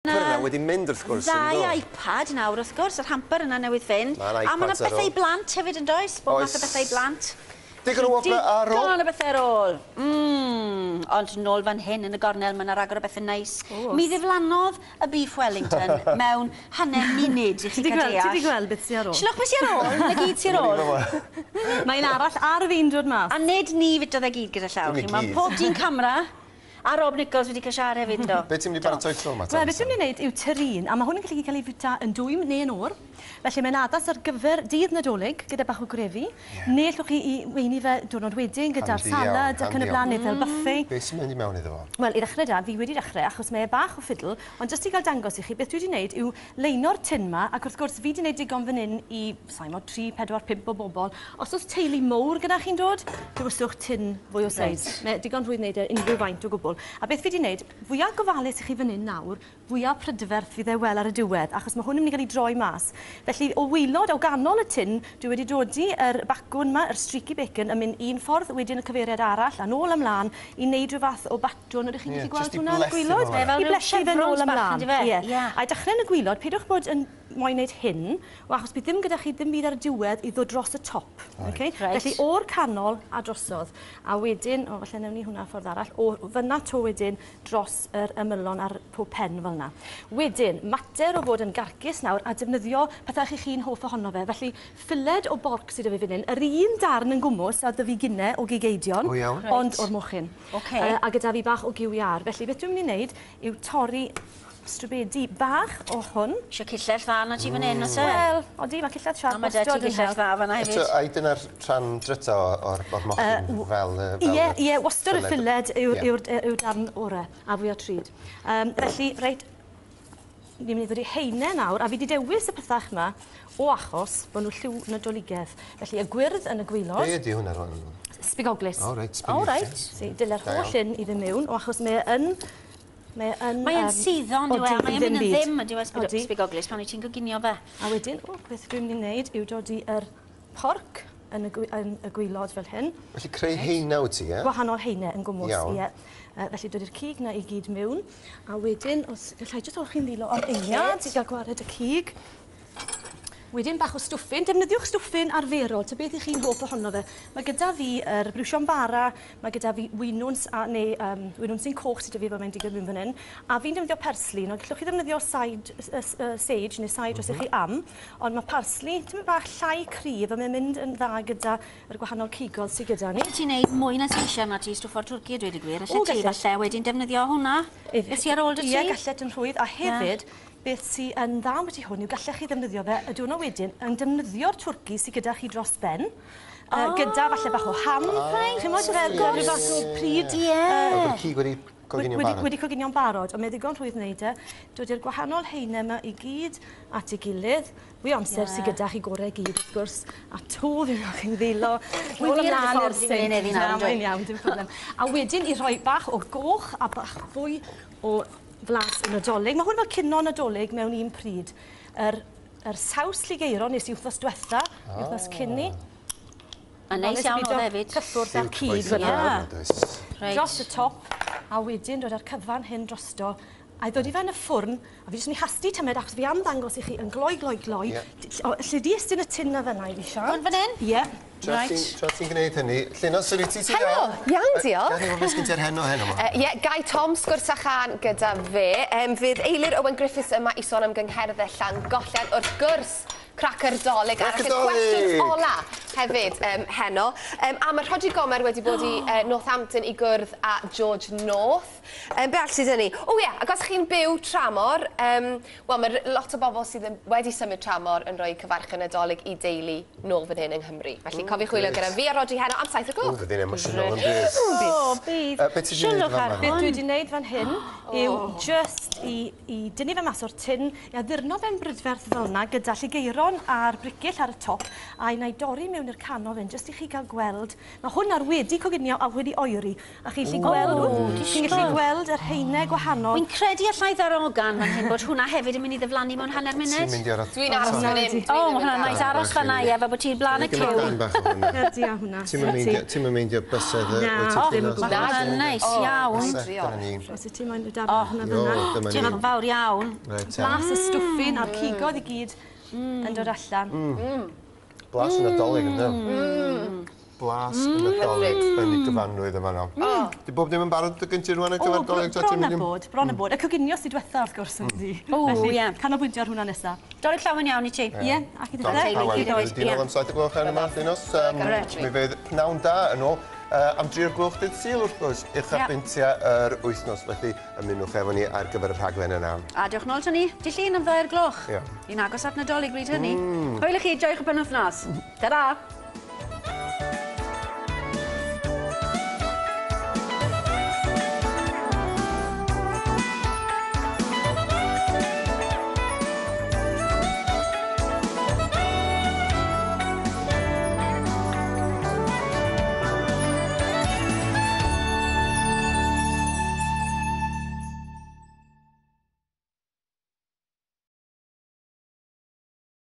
hamper yna wedi mynd wrth gwrs, Ddau iPad nawr wrth gwrs, yr hamper yna newydd fynd. Ma' 'na A ma' 'na iPads ar bethau i ôl. blant hefyd yn does? Bob math o Oes. bethau i blant. Digon o wobrau ar ôl. Digon o bethau ar ôl. Ond nôl fan hyn yn y gornel, mae yna ragor o bethau neis. Mi ddiflannodd y beef Wellington mewn hanner munud i chi cael deall. Ti 'di gweld beth sy ar ôl? Sylwch beth sy ar ôl, 'na gyd sy ar ôl. Mae un arall ar fin dod mas. A nid ni fitodd e gyd gyda llaw. Dim i Mae gyd. pob dyn camera a Rob Nichols wedi cael siarad hefyd, do. Be ti'n mynd i baratoi tro yma? Wel, beth dwi'n mynd i wneud yw terrine, a mae hwn yn gallu cael ei fwyta yn dwym neu yn oer. Felly mae'n addas ar gyfer dydd Nadolig gyda bach o grefi, yeah. Neu allwch chi i weini fe diwrnod wedyn gyda'r Handi iawn, salad ac yn y handi blaen, iawn. neu fel buffet. Be sy'n mynd i mewn iddo fo? Wel, i ddechrau da, fi wedi dechrau, achos mae e bach o ffidl, ond jyst i gael dangos i chi, beth dwi wedi wneud yw leino'r tin ma, ac wrth gwrs fi wedi wneud digon fan hyn i, sa'i mo, 3, 4, 5 o bobl. Os oes teulu mowr gyda chi'n dod, dewiswch tin fwy o seis. Reit. Mae digon rhwydd wneud e unrhyw faint o gwbl. A beth fi wedi wneud, fwyaf gofalus i chi fan hyn nawr, fwyaf prydferth fydd e wel ar y diwedd, achos mae hwn yn mynd i gael ei droi mas. Felly, o waelod, o ganol y tin, dwi wedi dodi yr bacwn ma, yr streaky bacon, yn mynd un ffordd, wedyn y cyfeiriad arall, a nôl ymlaen, i wneud rhyw fath o batwn. Ydych chi'n Ie, gallu gweld jyst i hwnna yn y blethu gwaelod? fo fel 'na. Fel I ryw blethu fe nôl chevrons bach, ymlaen. yndyfe? Ie. Ie. A i dechrau yn y gwaelod, peidiwch bod yn moyn wneud hyn, wel, achos bydd ddim gyda chi ddim byd ar y diwedd i ddod dros y top. Okay? Reit. Felly o'r canol a drosodd. A wedyn, o, falle newn ni hwnna ffordd arall, o fyna to wedyn dros yr ymylon ar pob pen fel yna. Wedyn, mater o fod yn garcus nawr a defnyddio pethau chi chi'n hoff ohono fe. Felly, ffiled o borc sydd 'da fi fan hyn, yr un darn yn gwmws a 'da fi gynne o gig eidion, O, iawn. Reit. ond o'r mochyn. Ocê. A gyda fi bach o gyw iâr. Felly, beth dwi'n mynd i wneud yw torri strwbedi bach o hwn. Isio cillell dda na ti fan hyn, oes e? Wel, odi, mae cillell siarp A mae 'da ti wastad yn gillell help. dda fan'na Eto, hefyd. ai dyna'r rhan dryta o'r mochyn fel fel Ie, ie, wastad y ffiled yw'r Ie. yw'r darn orau a fwyaf trud. Felly, reit, ni'n mynd i ddod i haenau nawr, a fi wedi dewis y pethach yma o achos bod nhw lliw Nadoligedd. Felly, y gwyrdd yn y gwaelod. Be ydi hwnna rwan? Sbigoglys. O, reit, O, reit. Si, dyle'r Da holl iawn. un i ddim mewn, o achos mae e yn... Mae yn... Mae e'n suddo, on'd yw e? odi, Mae e'n ddim mynd yn byd. ddim, ydyw e, Odi. sbigoglys, pan wyt ti'n coginio fe. A wedyn, o, beth dwi'n mynd i wneud yw dodi yr porc yn y, yn y gwaelod fel hyn. Felly creu haenau wyt ti, ie? Gwahanol haenau yn gwmws, Iawn. ie. Felly dodi'r cig na i gyd mewn. A wedyn, os gallai jyst olchi'n ddilo am eiliad i gael gwared y cig. Wedyn bach o stwffin. Defnyddiwch stwffin arferol, ta beth i chi'n hoff ohono fe. Mae gyda fi yr briwsion bara, mae gyda fi winwns, a, neu winwns sy'n coch sydd 'da fi fel mae'n digwydd mewn fan hyn. A fi'n defnyddio persli. Nawr, gallwch chi ddefnyddio sage neu sage os ych chi am, ond mae parsli tymed bach llai cryf a mae'n mynd yn dda gyda yr gwahanol cigodd sydd gyda ni. Ti'n neud mwy na ti eisiau na ti stwffo'r twrci a dweud y gwir. O, Allet ti gallet. falle wedyn defnyddio hwnna. Beth sy ar ôl dy ti? Ie, gallet yn rhwydd. A hefyd, beth sy yn dda ambyti hwn yw gallech chi ddefnyddio fe y diwrnod wedyn yn defnyddio'r twrci sydd gyda chi dros ben. Gyda falle bach o ham. Reit, Chimod, fel wrth rhyw fath o pryd. Ie. Fel bod y cig wedi coginio'n barod. Wedi coginio'n barod, ond mae ddigon rhwydd wneud e. Dod i'r gwahanol haenau yma i gyd at ei gilydd. Fwy o amser sydd gyda chi gorau i gyd, wrth gwrs. A to fi chi'n ddilo. Wy Nôl wir yn y ymlaen i'r ffordd i fynd sinc. heddi nawr, Na, yndw i? mae'n iawn, dim problem. A wedyn i rhoi bach o goch a bach fwy o flas y Nadolig. Mae hwn fel cino Nadolig mewn un pryd. Yr saws lligeiron nes i wythnos diwetha, wythnos cyn ni. A neis iawn oedd hefyd. Cyffwrdd â'r Lliw cig cyfoethog fyna. iawn, yn does? Reit. Dros y top, a wedyn dod â'r cyfan hyn drosto. A i ddod i fe yn y ffwrn, a fi jyst yn ei hasti tymed, achos fi am ddangos i chi yn gloi, gloi, gloi. Ie. Lle di estyn y tin na fyna i fi, Sian? Hwn fan hyn? Ie. Tra ti'n gwneud hynny, Llinos, sut wyt ti? Ti'n Helo, iawn, diolch. Gawn ni wybod beth sgyn ti ar heno heno 'ma? Ie, Gai Tom, sgwrs a chan gyda fe. Fydd Eilir Owen Griffiths yma i sôn am gyngherddau Llangollen. Wrth gwrs, cracer Dolig arall. Cracer Y cwestiwn Dolig! ola hefyd heno. A mae Rhodri Gomer wedi bod i Northampton i gwrdd â George North. Be all sydd ni? O ie, ac os chi'n byw tramor, wel, mae lot o bobl sydd wedi symud tramor yn rhoi cyfarchion Nadolig i deulu nôl fan hyn yng Nghymru. Felly cofiwch chwilio grêt. gyda fi a Rhodri heno am 7 o O, gloch. fydd hi'n emosiynol yn bydd. O, bydd. Be ti 'di wneud Sylwch fan ar 'ma? Beth hwn. dwi wedi wneud fan hyn yw just i dynnu fe mas o'r tin, i addurno fe'n brydferth fel yna gyda lligeiron a'r bricyll ar y top, a i wna i dorri mewn mewn i'r canol fan, jyst i chi gael gweld. Mae hwn ar wedi coginio a wedi oeri. A chi'n gallu gweld, chi'n gallu gweld yr haenau gwahanol. Wy'n credu allai ddarogan fan hyn bod hwnna hefyd yn mynd i ddiflannu mewn hanner Ti'n munud. mynd i aros... Dwi'n aros fan hyn. O, mae hwnna'n neis aros fan 'na, ie, fel bod ti'n blaen y Gymryd cyw. darn bach o hwnna. Ydy a hwnna. Ti'n meindio, ti'n meindio bysedd y... Na, wyt ti'n ddim ffeindio o gwbl. Mae hwnna'n neis iawn. Bysedd, dyna ni. Os wyt ti'n moyn y darn hwnna Jo, fyna. dyma ni. Diolch yn fawr iawn. Reit, te. Blas y stwffin a'r cigoedd i gyd yn dod allan. Blas y Nadolig, ynddo? Blas y Nadolig yn ei gyfanrwydd yma nawr. Di bob dim yn barod dy gynti rwan ar O, gyfer Dolig? Ta ti'n bron a mynd i- bod, bron a bod. Y coginio sydd diwetha wrth gwrs yndi. O, Felly, ie. Canolbwyntio ar hwnna nesa. Dolig llawen iawn i ti. Ie, ac i Dolig ddechrau. llawen. i ddod, Di nôl ie. am 7 o'r gloch ar yma, Llinos. Mi fydd pnawn da yn ôl am 3 o'r gloch dydd Sul wrth gwrs, uchafbwyntiau yr wythnos. Felly ymunwch efo ni ar gyfer y rhaglen yna. A diolch nôl to ni, di Llun am 2 o'r gloch. Ie. Ni'n agos at Nadolig bryd hynny. Hwyl i chi, joiwch y penwythnos. Ta-ra!